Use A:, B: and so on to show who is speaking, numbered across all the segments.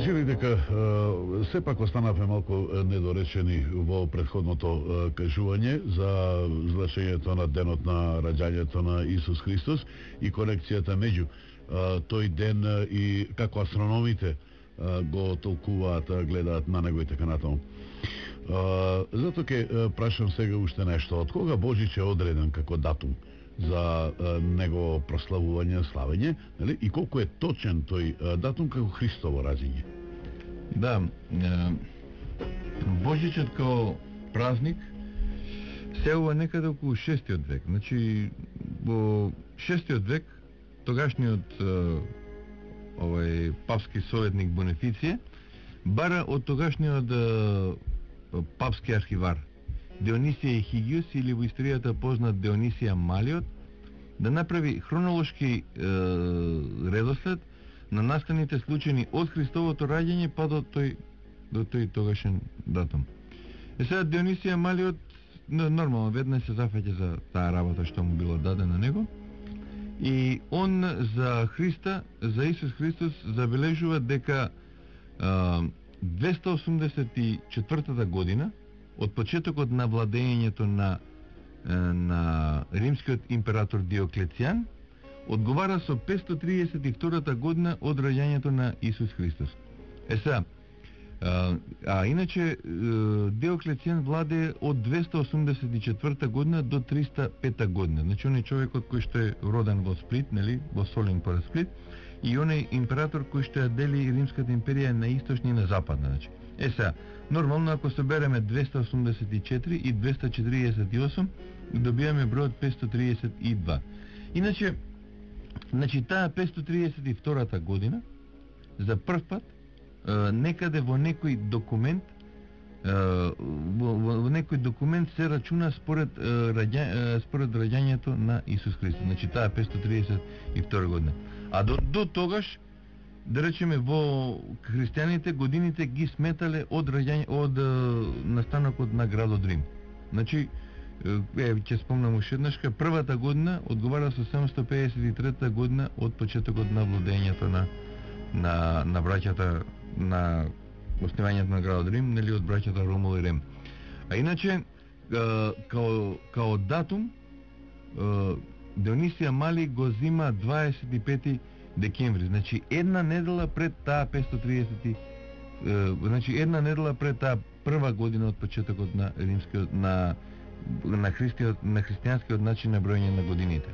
A: сили дека сепак останавме малку недоречени во претходното кажување за значењето на денот на раѓањето на Исус Христос и конекцијата меѓу тој ден и како астрономите го толкуваат, гледаат на него и така натаму. Затоа ќе прашам сега уште нешто. Од кога Божич е одреден како датум за негово прославување, славење, нели? И колку е точен тој датум како Христово раѓање?
B: Да, Божичот како празник се ова некаде околу 6 век. Значи, во 6 век тогашниот папски советник Бонифиција бара од тогашниот папски архивар Дионисија Ехигиус, или во историјата познат Дионисија Малиот, да направи хронолошки редослед на настаните случаи од Христовото раѓање па до тој тогашен датум. Сега Дионисија Малиот нормално веднаш се зафаќа за таа работа што му било дадена на него, и он за Христа, за Исус Христос, забележува дека 284 година од почетокот на владењето на римскиот император Диоклецијан одговара со 532 година од раѓањето на Исус Христос. Сега, иначе Диоклецијан владее од 284 година до 305 година. Значи он е човекот кој што е роден во Сплит, нели, во Солин поред Сплит, и он е император кој што ја дели Римската империја на источна и на западна. Значи, сега, нормално ако собереме 284 и 248, добиваме бројот 532. Иначе, значи таа 532 година за прв пат некаде во некој документ во некој документ се рачуна според раѓањето на Исус Христос. Значи таа 532 година. А до тогаш, да речеме, во христијаните годините ги сметале од настанокот на градот Рим. Значи, ќе спомнам уште еднашка, првата година одговара со 753 година од почетокот на владењето на браќата, на основањето на градот Рим, нели, од браќата Ромул и Рем. А иначе, као датум, Дионисија Мали го зима 25 декември, значи една недела пред таа 530, значи една недела пред таа прва година од почетокот на римскиот на христијанскиот начин на броење на годините.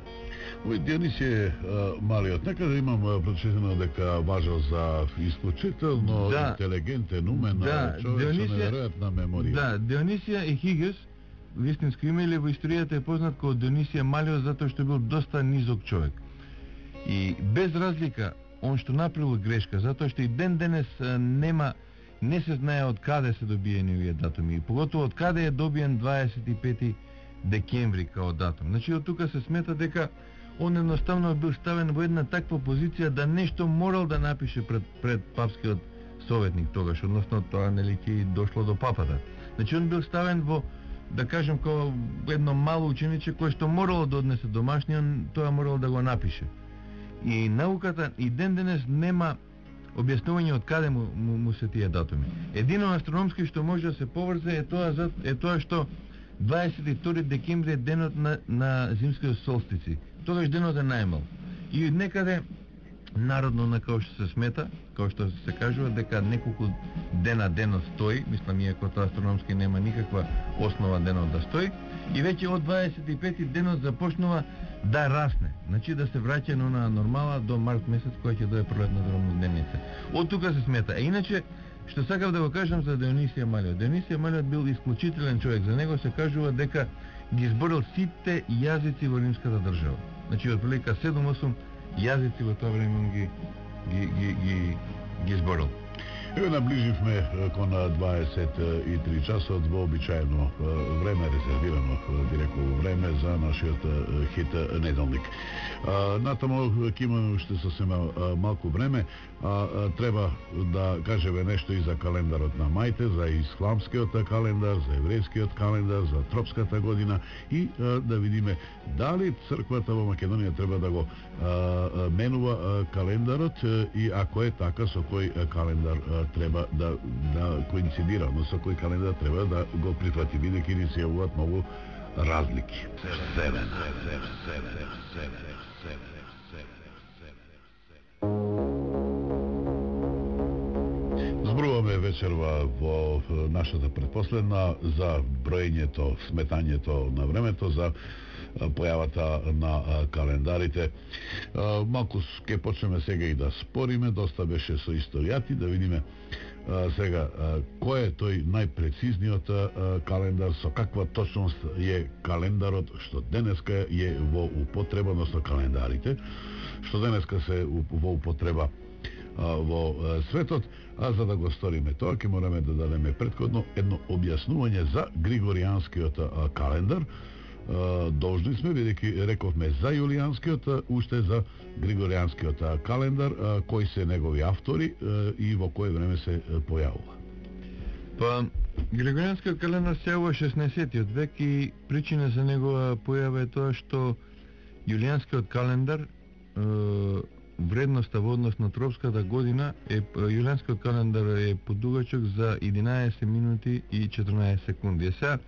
A: Дионисија Малиот, некаде имам прочитано дека важел за исклучително интелигентен, умен човек со неверојатна меморија.
B: Да, Дионисија Ехигиус, вистинско име, или во историјата е познат како Дионисија Малиот затоа што бил доста низок човек. И без разлика, он што направил грешка, затоа што и ден денес не се знае од каде се добиени овие датуми, и поготово од каде е добиен 25 декември као датум. Значи од тука се смета дека он едноставно бил ставен во една таква позиција да нешто морал да напише пред папскиот советник тогаш, односно тоа нели ќе дошло до папата. Значи он бил ставен во, да кажем, како едно мало учениче кое што морало да однесе домашни, он тоа морало да го напише. И науката и ден денес нема објаснување од каде му се тие датуми. Едино астрономски што може да се поврзе е тоа што 22 декември е денот на зимскиот солстици. Тогаш денот е најмал. И некаде народно на како што се смета, како што се кажува, дека неколку дена денот стои, мислам, иако тоа астрономски нема никаква основа денот да стои, и веќе од 25 денот започнува да расне, значи да се враќа на нормала до март месец, која ќе дое пролетната рамнодневница. Од тука се смета. А иначе, што сакав да го кажам за Дионисија Малиот. Дионисија Малиот бил исклучителен човек. За него се кажува дека ги изборил сите јазици во римската држава. Значи, од прилика 7-8 јазици во тоа време ги изборил.
A: Еве наближивме кон 23 часот во обичаено време, резервирано директно време за нашиот хит неделник. Натаму ќе имаме уште сосема малку време, треба да кажеме нешто и за календарот на мајте, за исламскиот календар, за еврејскиот календар, за тропската година и да видиме дали црквата во Македонија треба да го менува календарот и ако е така, со кој календар треба да коинцидира, но со кој календар треба да го прифати, бидејќи ни се јавуваат многу разлики. Зборуваме вечерва во нашата предпоследна за броењето, сметањето на времето, за појавата на календарите. Малку ќе почнеме сега и да спориме, доста беше со историјати, да видиме сега кој е тој најпрецизниот календар, со каква точност е календарот што денеска е во употреба, односно календарите што денеска се во употреба во светот, а за да го сториме тоа ќе мораме да дадеме претходно едно објаснување за Григоријанскиот календар. Должни сме, бидејќи рековме за јулијанскиот, уште за Григоријанскиот календар, кои се негови автори и во кое време се појавува.
B: Па, Григоријанскиот календар се во 16-тиот век и причина за негова појава е тоа што јулијанскиот календар вредноста во однос на тропската година јулијанскиот календар е подугачок за 11 минути и 14 секунди. Сега,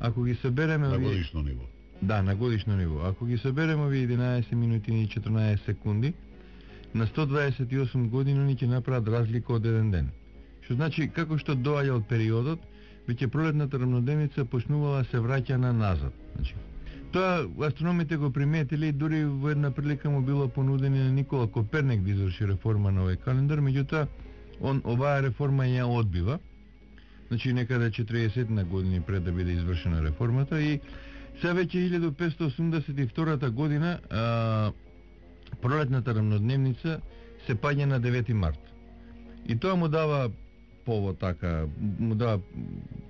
B: ако ги собереме
A: на годишно ниво.
B: Да, на годишно ниво. Ако ги собереме овие 11 минути и 14 секунди, на 128 години ни ќе направат разлика од еден ден. Што значи, како што доаѓа од периодот, веќе пролетната рамнодневница почнувала се враќа на назад. Значи, тоа астрономите го приметили и дури во една прилика му било понудени на Никола Коперник да изврши реформа на овој календар, меѓутоа оваа реформа ја одбива. Значи некаде 40 на години пред да биде извршена реформата и сега веќе 1582 година пролетната рамнодневница се паѓа на 9 март. И тоа му дава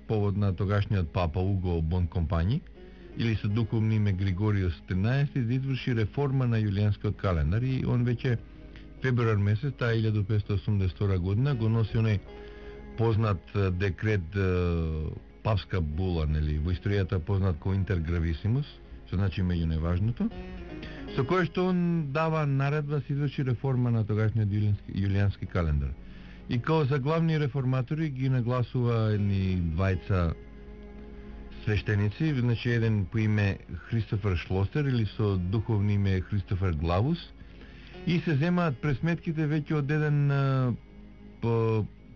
B: повод на тогашниот папа Уго Бонкомпањи или со духовно име Григориос 13 да изврши реформа на јулијанскиот календар и он веќе февруар месец таа 1582 година го носи оној познат декрет папска була, нели, во историјата познат ко интергрависимус, што значи меѓу неважното, со кој што он дава наредба се изврши реформа на тогашниот јулијански календар. И као за главни реформатори ги нагласува едни двајца свештеници, значи еден по име Христофер Шлосер или со духовно име Христофер Главус, и се земаат пресметките веќе од еден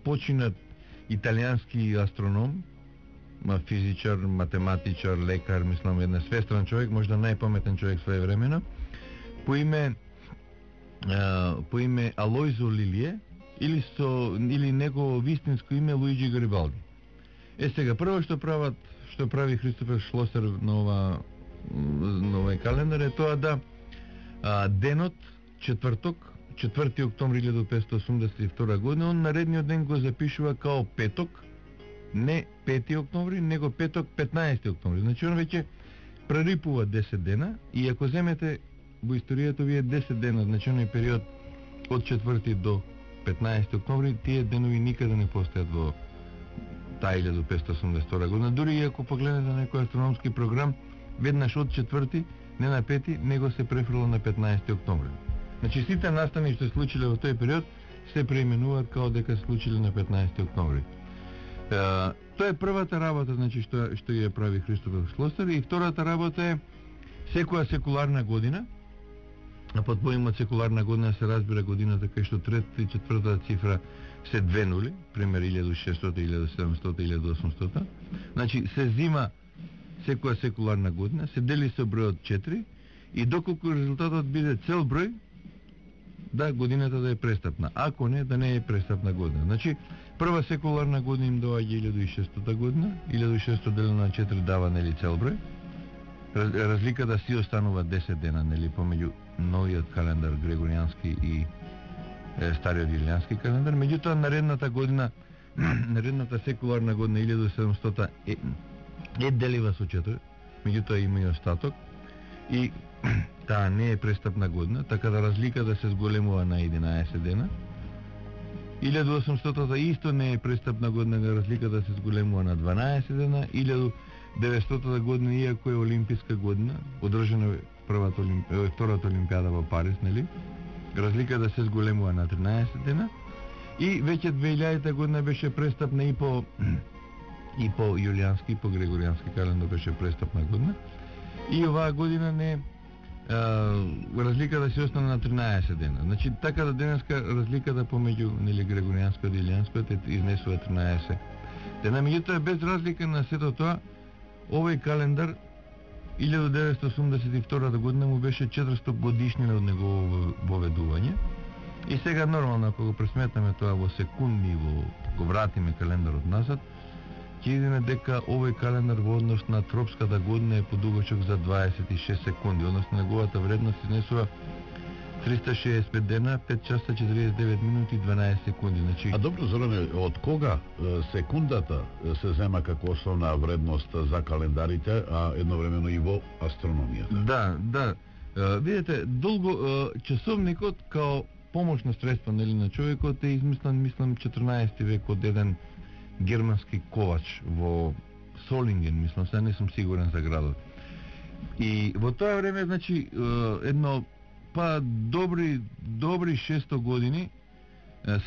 B: починат италијански астроном, физичар, математичар, лекар, мислам еден свестран човек, можда најпаметен човек своевремено, по име Алојзо Лилие или негово вистинско име Луиджи Гарибалди. Сега прво што прави Христофер Шлосер на овој календар е тоа да денот четврток 4 октомври 1582 година, он наредниот ден го запишува као петок, не 5 октомври, него петок 15 октомври. Значи он веќе прерипува 10 дена и ако земете во историјата овие 10 дена, значи оној период од 4 до 15 октомври, тие денови никаде не постојат во таа 1582 година. Дури и ако погледнете на некој астрономски програм, веднаш од 4 не на 5, него се префрло на 15 октомври. Значи сите настани што се случиле во тој период се преименуваат као дека се случиле на 15 октомври. Тоа е првата работа, значи што ја прави Христофер Шлосер, и втората работа е секоја секуларна година, а под поимот секуларна година се разбира годината кај што третата и четвртата цифра се две нули, пример 1600, 1700, 1800. Значи се зима секоја секуларна година, се дели со бројот 4 и доколку резултатот биде цел број, да годината да е престапна. Ако не, да не е престапна година. Значи, прва секуларна година им доаѓа 1600 година, 1600 делено на 4 дава, нели, цел број. Разликата си останува 10 дена, нели, помеѓу новиот календар Григоријански и стариот јулијански календар. Меѓутоа наредната година, наредната секуларна година 1700 е делива со 4, меѓутоа има и остаток и таа не е престапна година, така да разликата се зголемува на 11 дена. 1800 исто не е престапна година, разликата се зголемува на 12 дена. 1900 година, иако е олимписка година, одржана е втората олимпијада во Париз, нели? Разликата се зголемува на 13 дена. И веќе 2000 година беше престапна и по јулијански, и по грегоријански календар беше престапна година. И оваа година не разликата се остана на 13 дена. Значи така да денеска разликата помеѓу нели грегоријанскиот и јулијанскиот изнесува 13 дена. Меѓутоа без разлика на сето тоа, овој календар 1982 година му беше 400 годишнина од негово воведување. И сега нормално ако го пресметнеме тоа во секунди, го вратиме календарот назад, ќе видиме дека овој календар во однос на тропската година е подугачок за 26 секунди, односно неговата вредност изнесува 365 дена, 5 часа 49 минути 12 секунди. Значи...
A: А добро, Зоране, од кога секундата се зема како основна вредност за календарите, а едновремено и во астрономијата?
B: Да. Видите, долго часовникот као помошно средство нели на човекот е измислен, мислам, 14 век од еден германски ковач во Солинген, мислам, сега не сум сигурен за градот. И во тоа време, значи, едно добри 600 години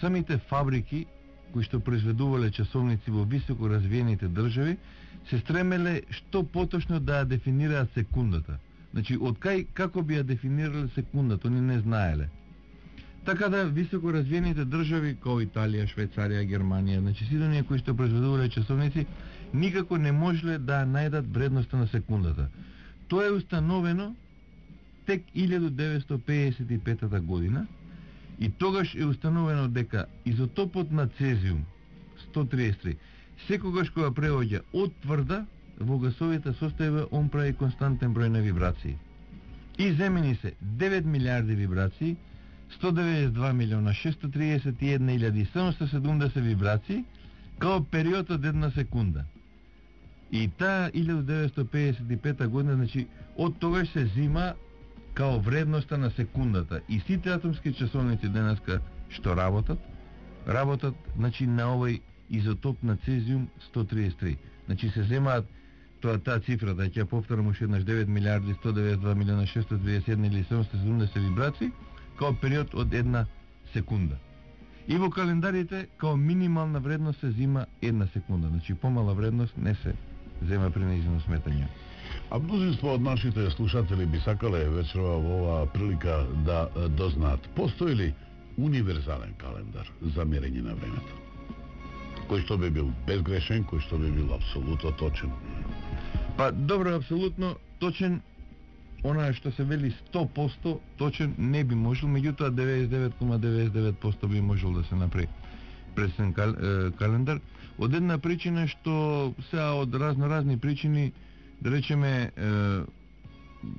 B: самите фабрики кои што произведувале часовници во високо развиените држави се стремеле што поточно да ја дефинираат секундата. Значи, од како би ја дефинирале секундата, они не знаеле. Така да високо развиените држави како Италија, Швајцарија, Германија, значи сите оние кои што произведувале часовници никако не можеле да најдат вредноста на секундата. Тоа е установено тек 1955 година и тогаш е установено дека изотопот на цезиум 133 секогаш кога преоѓа од тврда во гасовите состојба он прави константен број на вибрации. И земени се 9 милиарди вибрации, 192 милиона 631.770 вибрации као период од една секунда. И таа 1955 година, значи, од тогаш се зима као вредноста на секундата. И сите атомски часовници денеска што работат, значи, на овој изотоп на цезиум 133. Значи, се земаат таа цифра, да ќе повторам уште еднаш, 9 милиарди 192 милиона 631.770 вибрации, као период од една секунда. И во календарите, као минимална вредност се зима една секунда. Значи, помала вредност не се зема при нејзино сметање.
A: А мнозинство од нашите слушатели би сакале вечерва во оваа прилика да дознаат, постои ли универзален календар за мерење на времето? Кој што би бил безгрешен, кој што би бил апсолутно точен?
B: Па, добро, апсолутно точен, она што се вели 100% точен не би можел, меѓутоа 99,99% би можел да се направи пресен календар. Од една причина што сега од разни причини, да речеме,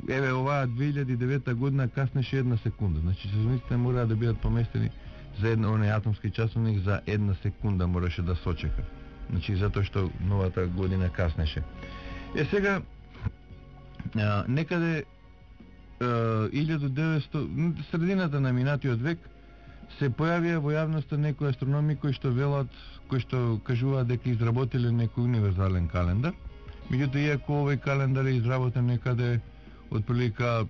B: еве оваа 2009 година каснеше една секунда. Значи часовниците мора да бидат поместени за онaj атомски часовник за една секунда мораше да сочека. Значи затоа што новата година каснеше. Сега некаде 1900 средината на минатиот век се појавија во јавноста некои астрономи кои што кажуваат дека изработиле некој универзален календар. Меѓутоа, иако овој календар е изработен некаде од прилика